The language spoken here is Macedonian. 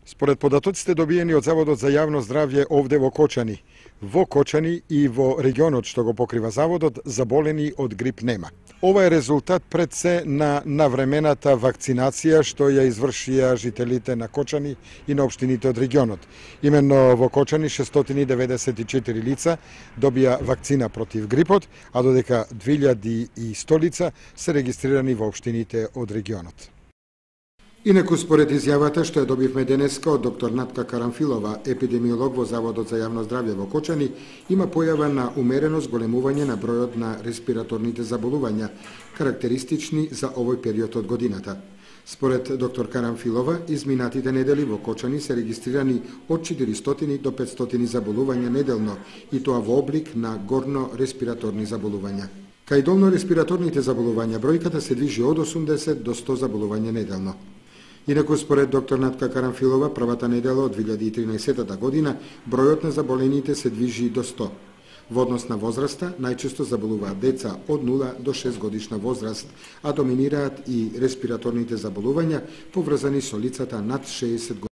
Според податоците добиени од Заводот за јавно здравје овде во Кочани и во регионот што го покрива заводот, заболени од грип нема. Ова е резултат пред се на навремената вакцинација што ја извршија жителите на Кочани и на општините од регионот. Именно во Кочани 694 лица добија вакцина против грипот, а додека 2100 лица се регистрирани во општините од регионот. Инаку според изјавата што ја добивме денеска од доктор Натка Карамфилова, епидемиолог во Заводот за јавно здравје во Кочани, има појава на умерено зголемување на бројот на респираторните заболувања, карактеристични за овој период од годината. Според доктор Карамфилова, изминатите недели во Кочани се регистрирани од 400 до 500 заболувања неделно, и тоа во облик на горно респираторни заболувања. Кај долно респираторните заболувања бројката се движи од 80 до 100 заболувања неделно. Инаку според доктор Натка Карамфилова, првата недела од 2013 година бројот на заболените се движи до 100. Во однос на возраста, најчесто заболуваат деца од 0 до 6 годишна возраст, а доминираат и респираторните заболувања поврзани со лицата над 60 години.